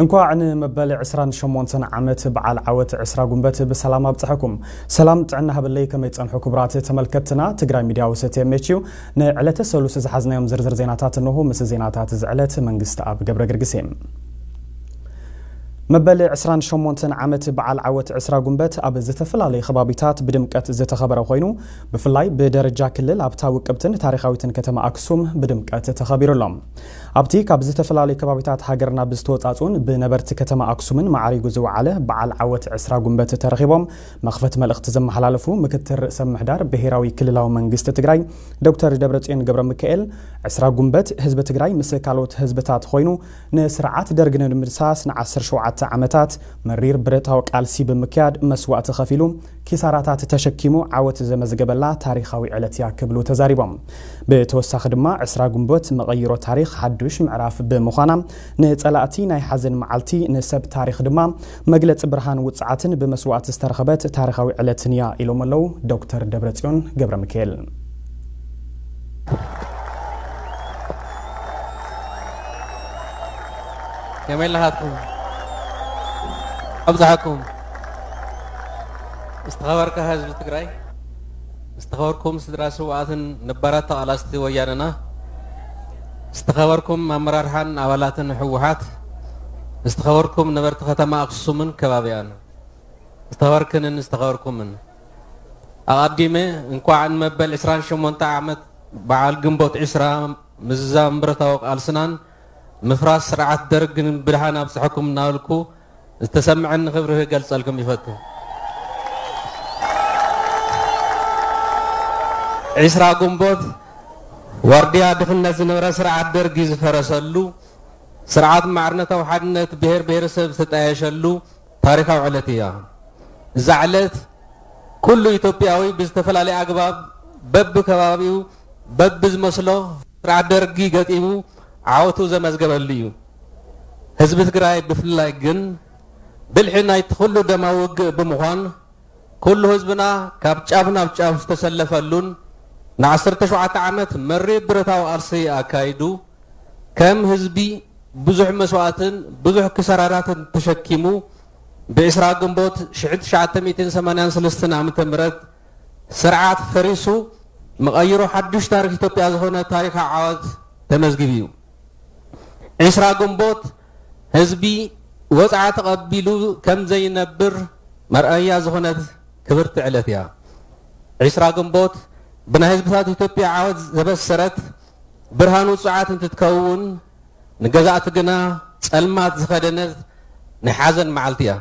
እንኳዕ ንመበል ዕስራን ሸሞንተን ዓመት በዓል ዓወት ዕስራ ጉንበት ብሰላም ኣብፀሐኩም። ሰላም ጥዕና ሃበለይ፣ ከመይ ፀንሑ ክቡራት ተመልከትና? ትግራይ ሚድያ ውሰት ኤምኤች እዩ። ንዕለተ ሰሉስ ዝሓዝናዮም ዝርዝር ዜናታት እንሆ። ምስ ዜናታት ዝዕለት መንግስቲ ኣብ ገብረ ግርግሴ። መበል ዕስራን ሸሞንተን ዓመት በዓል ዓወት ዕስራ ጉንበት ኣብ ዝተፈላለዩ ከባቢታት ብድምቀት ዝተኸበረ ኮይኑ፣ ብፍላይ ብደረጃ ክልል ኣብታ ውቅብትን ታሪኻዊትን ከተማ ኣክሱም ብድምቀት ተኸቢሩ ኣሎ። ኣብቲ ካብ ዝተፈላለዩ ከባቢታት ሃገርና ብዝተወፃፁን ብነበርቲ ከተማ ኣክሱምን ማዕሪጉ ዝወዓለ በዓል ዓወት ዕስራ ጉንበት ተረኺቦም መኽፈት መልእኽቲ ዘመሓላለፉ ምክትል ርእሰ ምሕዳር ብሔራዊ ክልላዊ መንግስቲ ትግራይ ዶክተር ደብረፅዮን ገብረ ሚካኤል፣ ዕስራ ጉንበት ህዝቢ ትግራይ ምስ ካልኦት ህዝብታት ኮይኑ ንስርዓት ደርግ ንምድምሳስ ንዓሰርተ ሸውዓተ ዓመታት መሪር ብረታዊ ቃልሲ ብምክያድ መስዋእቲ ከፊሉ ኪሳራታት ተሸኪሙ ዓወት ዘመዝገበላ ታሪኻዊ ዕለት እያ ክብሉ ተዛሪቦም። ብተወሳኺ ድማ ዕስራ ጉንበት መቐይሮ ታሪኽ ሓዱሽ ምዕራፍ ብምዃና ንጸላእቲ ናይ ሓዘን መዓልቲ፣ ንሰብ ታሪኽ ድማ መግለጺ ብርሃን ውጽዓትን ብመስዋእቲ ዝተረኸበት ታሪኻዊ ዕለትን እያ ኢሎም ኣለዉ ዶክተር ደብረጽዮን ገብረ ሚካኤል። ከመይ ኣለኻትኩም? ኣብዝሓኩም። ዝተኸበርካ ህዝቢ ትግራይ፣ ዝተኸበርኩም ስድራ ስውኣትን ነባራት ተቓላስቲ ወያነና፣ ዝተኸበርኩም ኣመራርሓን ኣባላትን ህወሓት፣ ዝተኸበርኩም ነበርቲ ከተማ ኣክሱምን ከባቢኣን፣ ዝተኸበርክንን ዝተኸበርኩምን፣ ኣቐዲመ እንኳዕ ንመበል ዕስራን ሸሞንተ ዓመት በዓል ግንቦት ዕስራ ምዝዛም ብረታዊ ቃልስናን ምፍራስ ስርዓት ደርግን ብድሓን ኣብፀሐኩም እናበልኩ ዝተሰምዐኒ ክብሪ ክገልጸልኩም ይፈቱ። ዕስራ ግንቦት ዋርድያ ድኽነት ዝነበረ ስርዓት ደርጊ ዝፈረሰሉ፣ ስርዓት ማዕርነታዊ ሓድነት ብሔር ብሔረሰብ ዝተጣየሸሉ ታሪኻዊ ዕለት እያ። እዛ ዕለት ኩሉ ኢትዮጵያዊ ብዝተፈላለየ ኣግባብ በብከባቢኡ በብዝመስሎ ስርዓት ደርጊ ገጢሙ ዓወቱ ዘመዝገበሉ እዩ። ህዝቢ ትግራይ ብፍላይ ግን ብልሒ ናይቲ ኩሉ ደማዊ ውግእ ብምዃን ኩሉ ህዝብና ካብ ጫፍ ናብ ጫፍ ዝተሰለፈሉን ንዓሰርተ ሸውዓተ ዓመት መሪር ብረታዊ ቃልሲ ኣካይዱ ከም ህዝቢ ብዙሕ መስዋእትን ብዙሕ ክሳራራትን ተሸኪሙ ብዕስራ ግንቦት ሽሕን ትሽዓተ ሚእትን ሰማንያን ሰለስተን ዓመተ ምህረት ስርዓት ፈሪሱ መቐይሮ ሓዱሽ ታሪኽ ኢትዮጵያ ዝኾነ ታሪኻዊ ዓወት ተመዝጊቡ እዩ። ዕስራ ግንቦት ህዝቢ ወፅዓ ተቐቢሉ ከም ዘይነብር መርኣያ ዝኾነት ክብርቲ ዕለት እያ። ዕስራ ግንቦት ብናይ ህዝብታት ኢትዮጵያ ዓወት ዘበሰረት ብርሃን ውፁዓት እንትትከውን፣ ንገዛእቲ ግና ጸልማት ዝኸደነት ናይ ሓዘን መዓልቲ እያ።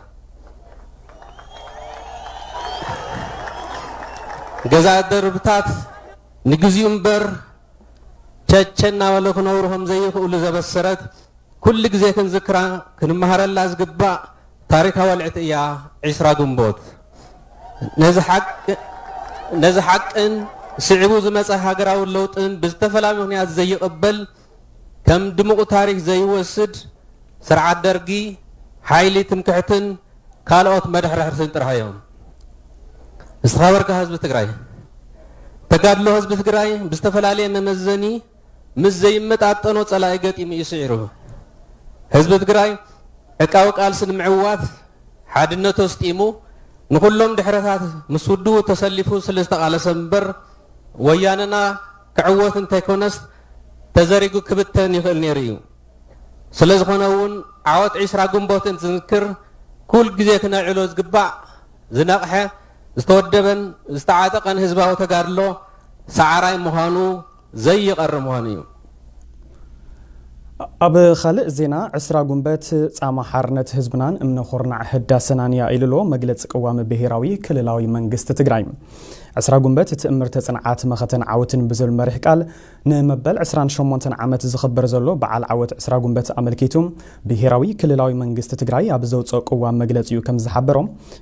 ገዛእቲ ደርብታት ንግዚኡ እምበር ቸቸ እናበለ ክነብሩ ከም ዘይኽእሉ ዘበሰረት፣ ኩሉ ግዜ ክንዝክራ ክንመሃረላ ዝግባእ ታሪኻዊ ዕለት እያ ዕስራ ግንቦት። ነዚ ሓቂ ነዚ ሓቅን ስዒቡ ዝመጸ ሃገራዊ ለውጥን ብዝተፈላለዩ ምኽንያት ዘይቕበል፣ ከም ድሙቕ ታሪኽ ዘይወስድ ስርዓት ደርጊ፣ ሓይሊ ትምክሕትን ካልኦት መድሕርሕርትን ጥራሕ እዮም። ዝተኸበርካ ህዝቢ ትግራይ፣ ተጋድሎ ህዝቢ ትግራይ ብዝተፈላለየ መመዘኒ ምስ ዘይመጣጠኖ ጸላኢ ገጢሙ እዩ ስዒሩ። ህዝቢ ትግራይ ዕቃዊ ቃልሲ ንምዕዋት ሓድነቱ ኣስጢሙ ንኹሎም ድሕረታት ምስ ውድቡ ተሰሊፉ ስለ ዝተቓለሰ እምበር ወያነና ክዕወት እንተይኮነስ ተዘሪጉ ክብተን ይኽእል ነይሩ እዩ። ስለ ዝኾነ እውን ዓወት ዕስራ ግንቦት እንትንዝክር ኩል ግዜ ክነዕሎ ዝግባእ ዝነቕሐ ዝተወደበን ዝተዓጠቐን ህዝባዊ ተጋድሎ ሰዓራይ ምዃኑ ዘይቐሪ ምዃኑ እዩ። ኣብ ካልእ ዜና፣ ዕስራ ጉንበት ጻማ ሓርነት ህዝብናን እምነ ኹርናዕ ህዳሰናን እያ ኢሉ ኣሎ መግለጺ ቅዋም ብሄራዊ ክልላዊ መንግስቲ ትግራይ። ዕስራ ጉንበት ትእምርተ ጽንዓት መኸተን ዓወትን ብዝብል መሪሕ ቃል ንመበል ዕስራን ሸሞንተን ዓመት ዝኽበር ዘሎ በዓል ዓወት ዕስራ ጉንበት ኣመልኪቱ ብሄራዊ ክልላዊ መንግስቲ ትግራይ ኣብ ዘውፅኦ ቅዋም መግለጺኡ ከም ዝሓበሮ፣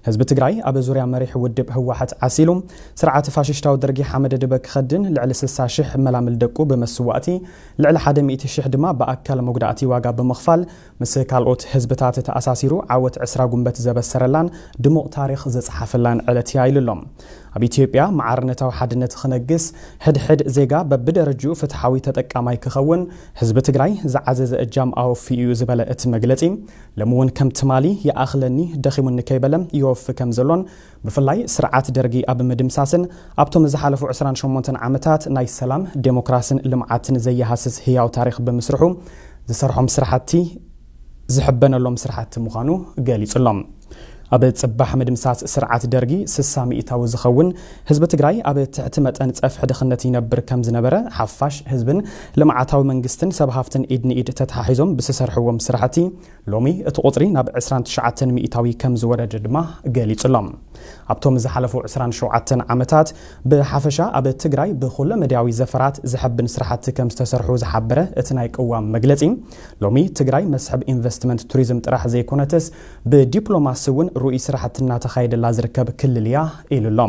ህዝቢ ትግራይ ኣብ ዙርያ መሪሕ ውድብ ህወሓት ዓሲሉ ስርዓት ፋሽሽታዊ ደርጊ ሓመደ ድበ ክኸድን ልዕሊ ስልሳ ሽሕ መላምል ደቁ ብመስዋእቲ፣ ልዕሊ ሓደ ሚእቲ ሽሕ ድማ ብኣካል መጉዳእቲ ዋጋ ብምኽፋል ምስ ካልኦት ህዝብታት ተኣሳሲሩ ዓወት ዕስራ ጉንበት ዘበሰረላን ድሙቕ ታሪኽ ዘጽሓፈላን ዕለት እያ ኢሉ ኣሎ። ኣብ ኢትዮጵያ ማዕርነታዊ ሓድነት ክነግስ፣ ሕድሕድ ዜጋ በብደረጅኡ ፍትሓዊ ተጠቃማይ ክኸውን ህዝቢ ትግራይ ዝዓዘዘ እጃም ኣወፊ እዩ ዝበለ እቲ መግለጺ፣ ሎሚ እውን ከም ትማሊ ይኣኽለኒ ደኺሙኒ ከይበለ ይወፊ ከም ዘሎን፣ ብፍላይ ስርዓት ደርጊ ኣብ ምድምሳስን ኣብቶም ዝሓለፉ ዕስራን ሸሞንተን ዓመታት ናይ ሰላም፣ ዴሞክራስን ልምዓትን ዘየሃስስ ህያው ታሪኽ ብምስርሑ ዝሰርሖም ስራሕቲ ዝሕበነሎም ስራሕቲ ምዃኑ ገሊጹሎም። ኣብ ጽባሕ ምድምሳስ ስርዓት ደርጊ ስሳ ሚእታዊ ዝኸውን ህዝቢ ትግራይ ኣብ ትሕቲ መጠን ጸፍሒ ድኽነት ይነብር ከም ዝነበረ፣ ሓፋሽ ህዝብን ልምዓታዊ መንግስትን ሰብ ሃፍትን ኢድ ንኢድ ተተሓሒዞም ብዝሰርሕዎም ስራሕቲ ሎሚ እቲ ቁጽሪ ናብ ዕስራን ትሽዓተን ሚእታዊ ከም ዝወረደ ድማ ገሊጹሎም። ኣብቶም ዝሓለፉ ዕስራን ሸውዓተን ዓመታት ብሓፈሻ ኣብ ትግራይ ብኩለ መዳያዊ ዘፈራት ዘሐብን ስራሕቲ ከም ዝተሰርሑ ዝሓበረ እቲ ናይ ቅዋም መግለጺ፣ ሎሚ ትግራይ መስሕብ ኢንቨስትመንት ቱሪዝም ጥራሕ ዘይኮነትስ ብዲፕሎማሲ እውን ርኡይ ስራሕቲ እናተኻየደላ ዝርከብ ክልል እያ ኢሉ ኣሎ።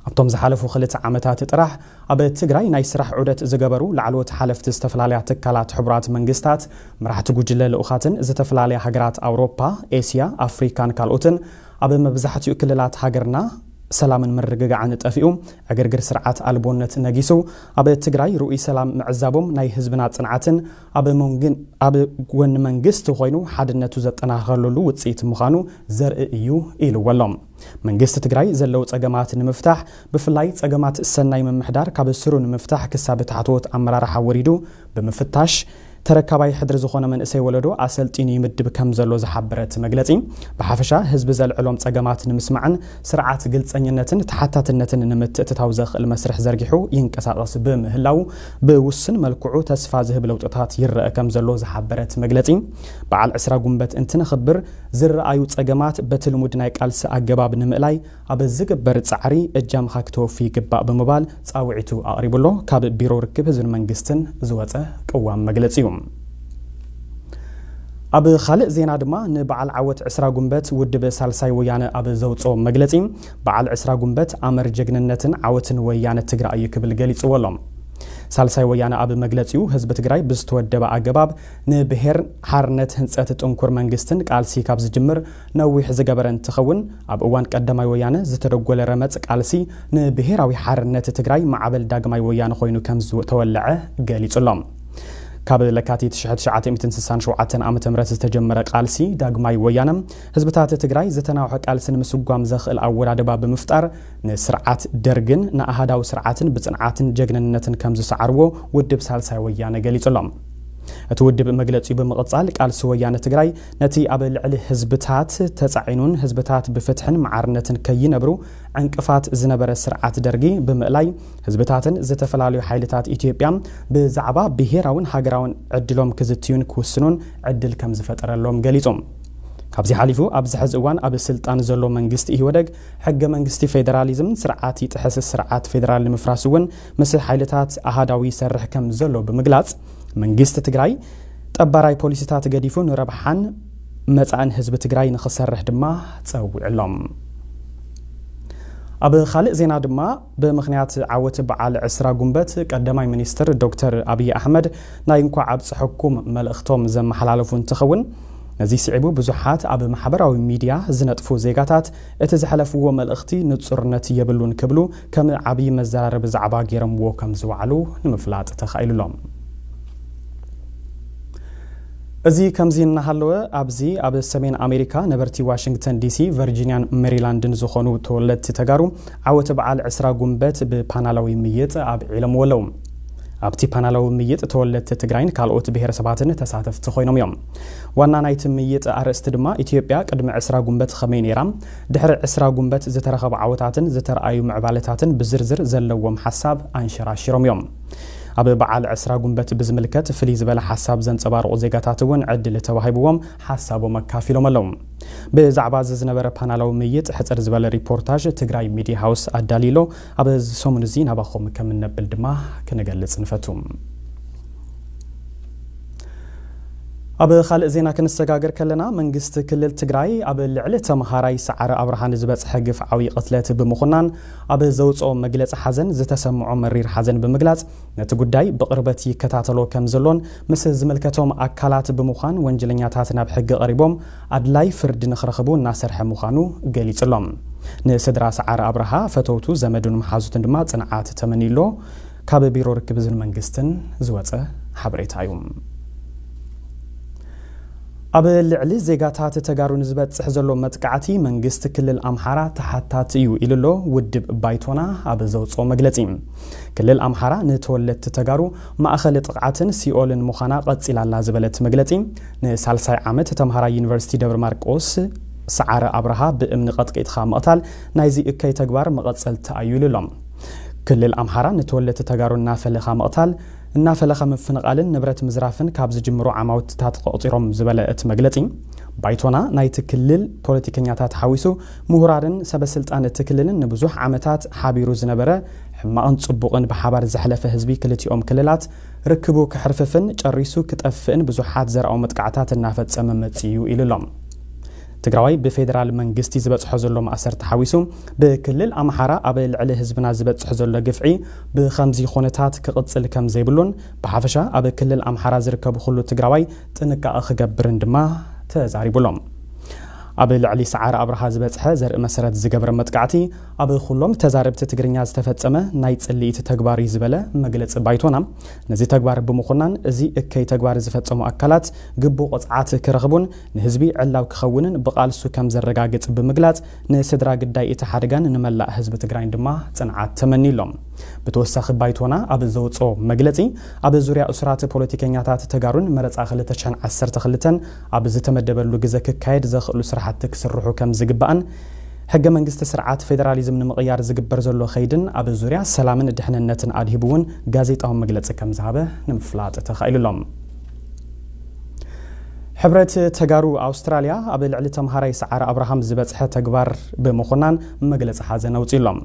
ኣብቶም ዝሓለፉ ክልተ ዓመታት ጥራሕ ኣብ ትግራይ ናይ ስራሕ ዑደት ዝገበሩ ላዕለዎት ሓለፍቲ ዝተፈላለያ ትካላት ሕቡራት መንግስታት፣ መራሕቲ ጉጅለ ልኡኻትን ዝተፈላለያ ሃገራት ኣውሮፓ፣ ኤስያ፣ ኣፍሪካን ካልኦትን ኣብ መብዛሕትኡ ክልላት ሃገርና ሰላምን ምርግጋዕን ጠፊኡ፣ ዕግርግር ስርዓት ኣልቦነት ነጊሱ፣ ኣብ ትግራይ ርኡይ ሰላም ምዕዛቦም ናይ ህዝብና ጽንዓትን ኣብ መንግን-፣ ኣብ ጎኒ መንግስቲ ኮይኑ ሓድነቱ ዘጠናኽረሉ ውጽኢት ምዃኑ ዘርኢ እዩ ኢልዎ ኣሎ። መንግስቲ ትግራይ ዘለዉ ጸገማት ንምፍታሕ፣ ብፍላይ ጸገማት ሰናይ ምምሕዳር ካብ ስሩ ንምፍታሕ ክሳብ ታሕተዎት ኣመራርሓ ወሪዱ ብምፍታሽ፣ ተረካባይ ሕድሪ ዝኾነ መንእሰይ ወለዶ ኣሰልጢኑ ይምድብ ከም ዘሎ ዝሓበረ እቲ መግለጺ፣ ብሓፈሻ ህዝቢ ዘልዕሎም ጸገማት ንምስማዕን ስርዓት ግልጸኝነትን ተሓታትነትን ንምትእትታው ዘኽእል መስርሕ ዘርጊሑ ይንቀሳቐስ ብምህላው፣ ብውሱን መልክዑ ተስፋ ዝህብ ለውጥታት ይረአ ከም ዘሎ ዝሓበረ እቲ መግለጺ፣ በዓል ዕስራ ጉንበት እንትነኽብር ዝረኣዩ ጸገማት በቲ ልሙድ ናይ ቃልሲ ኣገባብ ንምእላይ ኣብ ዝግበር ጻዕሪ እጃምኻ ክተወፊ ይግባእ ብምባል ጻውዒቱ ኣቕሪቡ ኣሎ። ካብ ቢሮ ርክብ ህዝብን መንግስትን ዝወጸ ቅዋም መግለጺ እዩ። ኣብ ካልእ ዜና ድማ ንበዓል ዓወት ዕስራ ጉንበት ውድብ ሳልሳይ ወያነ ኣብ ዘውጽኦ መግለጺ፣ በዓል ዕስራ ጉንበት ኣምር ጀግንነትን ዓወትን ወያነ ትግራይ እዩ ክብል ገሊጽዎ ኣሎ። ሳልሳይ ወያነ ኣብ መግለጺኡ ህዝቢ ትግራይ ብዝተወደበ ኣገባብ ንብሔር ሓርነት ህንጸት ጥንኩር መንግስትን ቃልሲ ካብ ዝጅምር ነዊሕ ዝገበረ እንትኸውን፣ ኣብ እዋን ቀዳማይ ወያነ ዝተደጎለ ረመጽ ቃልሲ ንብሔራዊ ሓርነት ትግራይ ማዕበል ዳግማይ ወያነ ኮይኑ ከም ዝተወለዐ ገሊጹ ኣሎ። ካብ ለካቲት ሽሕቲ ትሽዓተ ሚእትን ስሳን ሸውዓተን ዓመተ ምህረት ዝተጀመረ ቃልሲ ዳግማይ ወያነ፣ ህዝብታት ትግራይ ዝተናውሐ ቃልሲ ንምስጓም ዘኽእል ኣወዳድባ ብምፍጣር፣ ንስርዓት ደርግን ንኣሃዳዊ ስርዓትን ብጽንዓትን ጀግንነትን ከም ዝሰዓርዎ ውድብ ሳልሳይ ወያነ ገሊጹ ኣሎ። እቲ ውድብ መግለጺኡ ብምቕጻል፣ ቃልሲ ወያነ ትግራይ ነቲ ኣብ ልዕሊ ህዝብታት ተጻዒኑን ህዝብታት ብፍትሕን ማዕርነትን ከይነብሩ ዕንቅፋት ዝነበረ ስርዓት ደርጊ ብምእላይ፣ ህዝብታትን ዝተፈላለዩ ሓይልታት ኢትዮጵያ ብዛዕባ ብሄራውን ሃገራውን ዕድሎም ክዝትዩን ክውስኑን ዕድል ከም ዝፈጠረሎም ገሊጹ። ካብዚ ሓሊፉ፣ ኣብዚ ሕዚ እዋን ኣብ ስልጣን ዘሎ መንግስቲ ኢህወደግ፣ ሕገ መንግስቲ ፌዴራሊዝም ስርዓት ይጥሕስ፣ ስርዓት ፌዴራል ንምፍራስ እውን ምስ ሓይልታት ኣሃዳዊ ይሰርሕ ከም ዘሎ ብምግላጽ፣ መንግስቲ ትግራይ ጠባራይ ፖሊሲታት ገዲፉ ንረብሓን መጻእን ህዝቢ ትግራይ ንኽሰርሕ ድማ ጸዊዑ ኣሎ። ኣብ ካልእ ዜና ድማ፣ ብምኽንያት ዓወት በዓል ዕስራ ጉንበት፣ ቀዳማይ ሚኒስትር ዶክተር ኣብይ ኣሕመድ ናይ እንኳዕ ኣብፀሐኩም መልእኽቶም ዘመሓላለፉ እንትኸውን፣ ነዚ ስዒቡ ብዙሓት ኣብ ማሕበራዊ ሚድያ ዝነጥፉ ዜጋታት እቲ ዘሕለፍዎ መልእኽቲ ንፁርነት የብሉን ክብሉ ከም ዓብዪ መዘራረቢ ዛዕባ ገይሮምዎ ከም ዝወዓሉ ንምፍላጥ ተኻኢሉ ኣሎ። እዚ ከምዚ እናሃለወ፣ ኣብዚ ኣብ ሰሜን ኣሜሪካ ነበርቲ ዋሽንግተን ዲሲ፣ ቨርጂኒያን ሜሪላንድን ዝኾኑ ተወለድቲ ተጋሩ ዓወት በዓል ዕስራ ጉንበት ብፓናላዊ ምይጥ ኣብዒሎምዎ ኣለዉ። ኣብቲ ፓናላዊ ምይጥ ተወለድቲ ትግራይን ካልኦት ብሄረሰባትን ተሳተፍቲ ኮይኖም እዮም። ዋና ናይቲ ምይጥ ኣርእስቲ ድማ ኢትዮጵያ ቅድሚ ዕስራ ጉንበት ከመይ ነይራ፣ ድሕሪ ዕስራ ጉንበት ዝተረኸቡ ዓወታትን ዝተረኣዩ ምዕባለታትን ብዝርዝር ዘለዎም ሓሳብ ኣንሸራሺሮም እዮም። ኣብ በዓል ዕስራ ጉንበት ብዝምልከት ፍልይ ዝበለ ሓሳብ ዘንጸባርቑ ዜጋታት እውን ዕድል ተዋሂብዎም ሓሳቦም ኣካፊሎም ኣለዉ። ብዛዕባ እዚ ዝነበረ ፓናላዊ ምይጥ ሕጽር ዝበለ ሪፖርታዥ ትግራይ ሚድያ ሃውስ ኣዳልዩ ኣሎ። ኣብ እዚ ሰሙን እዚ ናባኹም ከም እነብል ድማ ክንገልጽ ንፈቱ። ኣብ ካልእ ዜና ክንሰጋገር ከለና፣ መንግስቲ ክልል ትግራይ ኣብ ልዕሊ ተምሃራይ ሰዓረ ኣብርሃ ንዝበጽሐ ግፍዓዊ ቅትለት ብምኹናን ኣብ ዘውጽኦ መግለጺ ሓዘን ዝተሰምዖ መሪር ሓዘን ብምግላጽ፣ ነቲ ጉዳይ ብቕርበት ይከታተሎ ከም ዘሎን ምስ ዝምልከቶም ኣካላት ብምዃን ወንጀለኛታት ናብ ሕጊ ቀሪቦም ኣድላይ ፍርዲ ንኽረኽቡ እናሰርሐ ምዃኑ ገሊጹ ኣሎ። ንስድራ ሰዓረ ኣብርሃ፣ ፈተውቱ፣ ዘመዱን መሓዙትን ድማ ጽንዓት ተመንዩ ኣሎ። ካብ ቢሮ ርክብ ህዝብን መንግስትን ዝወጸ ሓበሬታ እዩ። ኣብ ልዕሊ ዜጋታት ተጋሩ ንዝበጽሕ ዘሎ መጥቃዕቲ መንግስቲ ክልል ኣምሓራ ተሓታቲ እዩ ኢሉ ኣሎ ውድብ ባይቶና ኣብ ዘውፅኦ መግለጺ። ክልል ኣምሓራ ንተወለድቲ ተጋሩ ማእኸል ጥቕዓትን ሲኦልን ምዃና ቀጺላ ኣላ ዝበለት መግለጺ፣ ንሳልሳይ ዓመት ተምሃራይ ዩኒቨርሲቲ ደብረ ማርቆስ ሰዓረ ኣብርሃ ብእምኒ ቀጥቂጥኻ ምቕታል ናይዚ እከይ ተግባር መቐጸልታ እዩ ኢሉ ኣሎ። ክልል ኣምሓራ ንተወለድቲ ተጋሩ እናፈለኻ ምቕታል፣ እናፈለኻ ምፍንቓልን ንብረት ምዝራፍን ካብ ዝጅምሩ ዓማውትታት ቆፂሮም ዝበለ እቲ መግለፂ፣ ባይቶና ናይቲ ክልል ፖለቲከኛታት ሓዊሱ ምሁራንን ሰበስልጣን እቲ ክልልን ንብዙሕ ዓመታት ሓቢሩ ዝነበረ ሕማቕን ጽቡቕን ብሓባር ዘሕለፈ ህዝቢ ክልቲኦም ክልላት ርክቡ ክሕርፍፍን ጨሪሱ ክጠፍእን ብዙሓት ዘርኣዊ መጥቃዕታት እናፈጸመ መጺኡ ኢሉ ኣሎ። ትግራዋይ ብፌዴራል መንግስቲ ዝበጽሖ ዘሎ ማእሰር ተሓዊሱ ብክልል ኣምሓራ ኣብ ልዕሊ ህዝብና ዝበጽሕ ዘሎ ግፍዒ ብኸምዚ ኩነታት ክቕጽል ከም ዘይብሉን ብሓፈሻ ኣብ ክልል ኣምሓራ ዝርከቡ ኩሉ ትግራዋይ ጥንቃቐ ክገብርን ድማ ተዛሪቡ ኣሎ። ኣብ ልዕሊ ሰዓረ ኣብርሃ ዝበጽሐ ዘርኢ መሰረት ዝገብረ መጥቃዕቲ ኣብ ኩሎም ተዛረብቲ ትግርኛ ዝተፈጸመ ናይ ጽልኢት ተግባር እዩ ዝበለ መግለጺ ባይቶና፣ ነዚ ተግባር ብምኹናን እዚ እከይ ተግባር ዝፈጸሙ ኣካላት ግቡእ ቅጽዓት ክረኽቡን ንህዝቢ ዕላው ክኸውንን ብቓልሱ ከም ዘረጋግጽ ብምግላጽ ንስድራ ግዳይ እቲ ሓደጋን ንመላእ ህዝቢ ትግራይን ድማ ጽንዓት ተመንዩ ኣሎ። ብተወሳኺ ባይቶና ኣብ ዘውፅኦ መግለፂ ኣብ ዙርያ እሱራት ፖለቲከኛታት ተጋሩን መረፃ ክልተ ሽሕን ዓሰርተ ክልተን ኣብ ዝተመደበሉ ግዘ ክካየድ ዘኽእሉ ስራሕቲ ክስርሑ ከም ዝግባእን ሕገ መንግስቲ ስርዓት ፌዴራሊዝም ንምቕያር ዝግበር ዘሎ ኸይድን ኣብ ዙርያ ሰላምን ድሕንነትን ኣድሂቡ እውን ጋዜጣዊ መግለፂ ከም ዝሃበ ንምፍላጥ ተኻኢሉ ኣሎ። ሕብረት ተጋሩ ኣውስትራልያ ኣብ ልዕሊ ተምሃራይ ሰዓረ ኣብርሃም ዝበፅሐ ተግባር ብምኹናን መግለፂ ሓዘን ኣውፂኡ ኣሎ።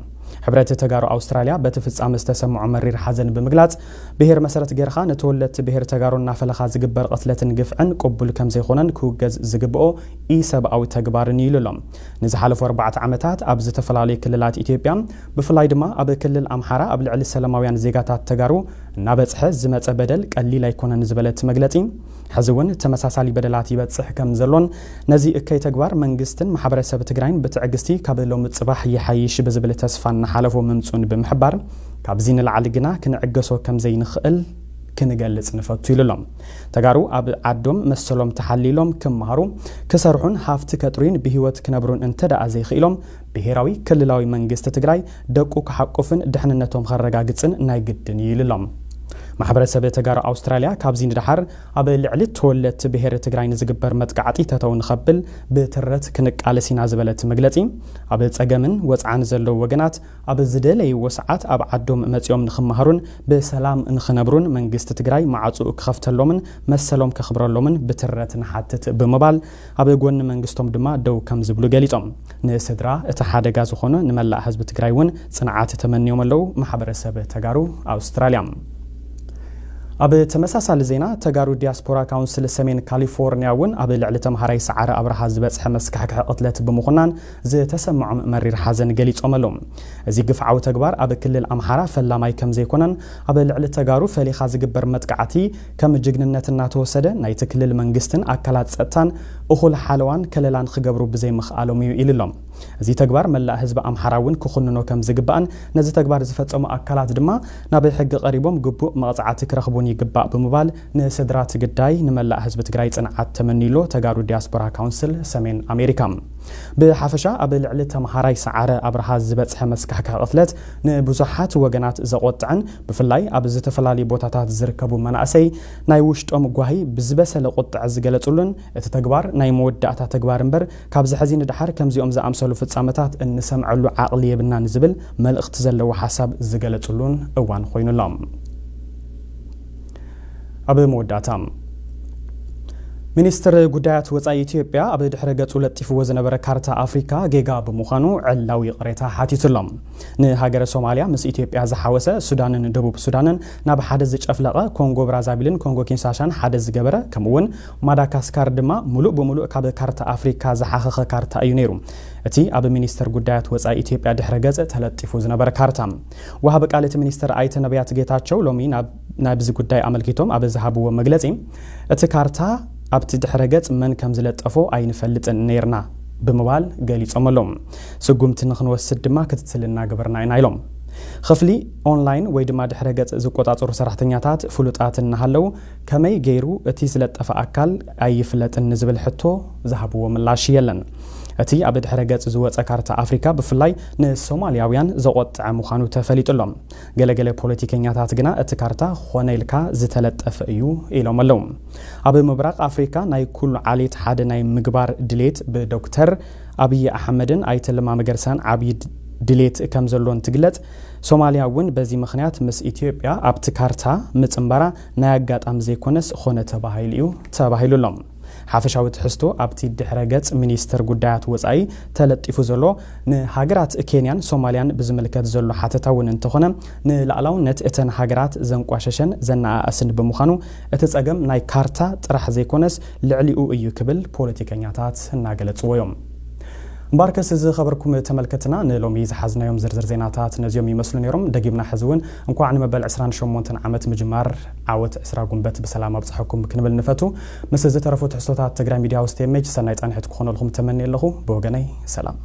ሕብረት ተጋሩ ኣውስትራልያ በቲ ፍጻመ ዝተሰምዖ መሪር ሓዘን ብምግላጽ፣ ብሄር መሰረት ጌርኻ ንተወለድቲ ብሄር ተጋሩ እናፈለኻ ዝግበር ቅትለትን ግፍዕን ቅቡል ከም ዘይኮነን ክውገዝ ዝግብኦ ኢሰብኣዊ ተግባርን እዩ ኢሉ ኣሎ። ንዝሓለፉ ኣርባዕተ ዓመታት ኣብ ዝተፈላለዩ ክልላት ኢትዮጵያ፣ ብፍላይ ድማ ኣብ ክልል ኣምሓራ ኣብ ልዕሊ ሰላማውያን ዜጋታት ተጋሩ እናበጽሐ ዝመጸ በደል ቀሊል ኣይኮነን ዝበለ እቲ መግለጺ፣ ሕዚ እውን ተመሳሳሊ በደላት ይበጽሕ ከም ዘሎን ነዚ እከይ ተግባር መንግስትን ማሕበረሰብ ትግራይን ብትዕግስቲ ካብ ሎሚ ጽባሕ ይሓይሽ ብዝብል ተስፋ እናሓለፎ ምምጹን ብምሕባር፣ ካብዚ ንላዕሊ ግና ክንዕገሶ ከም ዘይንኽእል ክንገልጽ ንፈቱ ኢሉ ኣሎ። ተጋሩ ኣብ ዓዶም መሰሎም ተሓሊሎም ክመሃሩ፣ ክሰርሑን ሃፍቲ ከጥርዩን ብህይወት ክነብሩን እንተ ደኣ ዘይኽኢሎም፣ ብሄራዊ ክልላዊ መንግስቲ ትግራይ ደቁ ክሓቁፍን ድሕንነቶም ከረጋግጽን ናይ ግድን እዩ ኢሉ ኣሎ። ማሕበረሰብ ተጋሩ ኣውስትራልያ ካብዚ ንደሓር ኣብ ልዕሊ ተወለድቲ ብሄር ትግራይ ንዝግበር መጥቃዕቲ ተተው ንኸብል ብትረት ክንቃለስ ኢና ዝበለት መግለጺ፣ ኣብ ጸገምን ወጽዓን ዘለዉ ወገናት ኣብ ዝደለይዎ ሰዓት ኣብ ዓዶም መጺኦም ንኽመሃሩን ብሰላም ንኽነብሩን መንግስቲ ትግራይ ማዕጹኡ ክኸፍተሎምን መሰሎም ከኽብረሎምን ብትረት ንሓትት ብምባል፣ ኣብ ጎኒ መንግስቶም ድማ ደው ከም ዝብሉ ገሊጾም። ንስድራ እቲ ሓደጋ ዝኾነ ንመላእ ህዝቢ ትግራይ እውን ጽንዓት ተመንዮም ኣለዉ ማሕበረሰብ ተጋሩ ኣውስትራልያ። ኣብ ተመሳሳሊ ዜና፣ ተጋሩ ዲያስፖራ ካውንስል ሰሜን ካሊፎርኒያ እውን ኣብ ልዕሊ ተምሃራይ ሰዓረ ኣብርሃ ዝበጽሐ መስካሕክሒ ቅትለት ብምኹናን ዝተሰምዖም መሪር ሓዘን ገሊጾም ኣለዉ። እዚ ግፍዓዊ ተግባር ኣብ ክልል ኣምሓራ ፈላማይ ከም ዘይኮነን፣ ኣብ ልዕሊ ተጋሩ ፈሊኻ ዝግበር መጥቃዕቲ ከም ጅግንነት እናተወሰደ፣ ናይቲ ክልል መንግስትን ኣካላት ጸጥታን እኹል ሓለዋን ከለላን ክገብሩ ብዘይምኽኣሎም እዩ ኢሉ ኣሎ። እዚ ተግባር መላእ ህዝቢ ኣምሓራ እውን ክኹንኖ ከም ዝግባእን፣ ነዚ ተግባር ዝፈጸሙ ኣካላት ድማ ናብ ሕጊ ቀሪቦም ግቡእ መቕጻዕቲ ክረኽቡን ይግባእ ብምባል፣ ንስድራ እቲ ግዳይ ንመላእ ህዝቢ ትግራይ ጽንዓት ተመንዩ ኣሎ ተጋሩ ዲያስፖራ ካውንስል ሰሜን ኣሜሪካ። ብሓፈሻ ኣብ ልዕሊ ተምሃራይ ሰዓረ ኣብርሃ ዝበጽሐ መስካሕካሕ ቅትለት ንብዙሓት ወገናት ዘቖጥዐን፣ ብፍላይ ኣብ ዝተፈላለዩ ቦታታት ዝርከቡ መናእሰይ ናይ ውሽጦም ጓሂ ብዝበሰለ ቁጥዐ ዝገለጹሉን፣ እቲ ተግባር ናይ መወዳእታ ተግባር እምበር፣ ካብዚ ሕዚ ንደሓር ከምዚኦም ዝኣምሰሉ ፍጻመታት እንሰምዐሉ ዓቕሊ የብልናን ዝብል መልእኽቲ ዘለዎ ሓሳብ ዝገለጹሉን እዋን ኮይኑ ኣሎ። ኣብ መወዳእታ፣ ሚኒስትር ጉዳያት ወጻኢ ኢትዮጵያ ኣብ ድሕረ ገጹ ለጢፍዎ ዝነበረ ካርታ ኣፍሪካ ጌጋ ብምዃኑ ዕላዊ ይቕሬታ ሓቲቱ ኣሎ። ንሃገረ ሶማልያ ምስ ኢትዮጵያ ዝሓወሰ ሱዳንን ደቡብ ሱዳንን ናብ ሓደ ዝጨፍለቐ፣ ኮንጎ ብራዛቪልን ኮንጎ ኪንሳሻን ሓደ ዝገበረ፣ ከምኡ እውን ማዳጋስካር ድማ ሙሉእ ብሙሉእ ካብ ካርታ ኣፍሪካ ዝሓኸኸ ካርታ እዩ ነይሩ። እቲ ኣብ ሚኒስትር ጉዳያት ወጻኢ ኢትዮጵያ ድሕረ ገጽ ተለጢፉ ዝነበረ ካርታ። ወሃቢ ቃል እቲ ሚኒስትር ኣይተ ነቢያት ጌታቸው ሎሚ ናብ ናብዚ ጉዳይ ኣመልኪቶም ኣብ ዝሃብዎ መግለጺ፣ እቲ ካርታ ኣብቲ ድሕረ ገጽ መን ከም ዝለጠፎ ኣይንፈልጥን ነይርና። ብምባል ገሊጾም ኣለዉ። ስጉምቲ ንክንወስድ ድማ ክትትል እናገበርና ኢና ኢሎም። ክፍሊ ኦንላይን ወይ ድማ ድሕረ ገጽ ዝቆጻጸሩ ሰራሕተኛታት ፍሉጣት እናሃለዉ ከመይ ገይሩ እቲ ዝለጠፈ ኣካል ኣይፍለጥን ንዝብል ሕቶ ዝሃብዎ ምላሽ የለን። እቲ ኣብ ድሕረ ገጽ ዝወጸ ካርታ ኣፍሪካ ብፍላይ ንሶማልያውያን ዘቆጥዐ ምዃኑ ተፈሊጡ ኣሎ። ገለገለ ፖለቲከኛታት ግና እቲ ካርታ ኾነ ኢልካ ዝተለጠፈ እዩ ኢሎም ኣለዉ። ኣብ ምብራቕ ኣፍሪካ ናይ ኩሉ ዓሌት ሓደ ናይ ምግባር ድሌት ብዶክተር ኣብይ ኣሕመድን ኣይተ ለማ መገርሳን ዓብዪ ድሌት ከም ዘሎ እንትግለጽ፣ ሶማልያ እውን በዚ ምኽንያት ምስ ኢትዮጵያ ኣብቲ ካርታ ምጽንባራ ናይ ኣጋጣሚ ዘይኮነስ ኾነ ተባሂሉ እዩ ተባሂሉ ኣሎ። ሓፈሻዊ ትሕዝቶ ኣብቲ ድሕረ ገጽ ሚኒስትር ጉዳያት ወጻኢ ተለጢፉ ዘሎ ንሃገራት ኬንያን ሶማልያን ብዝምልከት ዘሎ ሓተታ እውን እንተኾነ፣ ንላዕላውነት እተን ሃገራት ዘንቋሸሸን ዘነኣእስን ብምዃኑ፣ እቲ ጸገም ናይ ካርታ ጥራሕ ዘይኮነስ ልዕሊኡ እዩ ክብል ፖለቲከኛታት እናገለጽዎ እዮም። እምበኣርከስ ዝኸበርኩም ተመልከትና፣ ንሎሚ ዝሓዝናዮም ዝርዝር ዜናታት ነዚኦም ይመስሉ ነይሮም። ደጊምና ሕዚ እውን እንኳዕ ንመበል ዕስራን ሸሞንተን ዓመት ምጅማር ዓወት ዕስራ ጉንበት ብሰላም ኣብጽሐኩም ክንብል ንፈቱ። ምስ ዝተረፉ ትሕዝቶታት ትግራይ ሚድያ ሃውስ ቲ ኤም ኤች ሰናይ ጻንሒት ክኾነልኩም ተመንየ ኣለኹ። ብወገነይ ሰላም።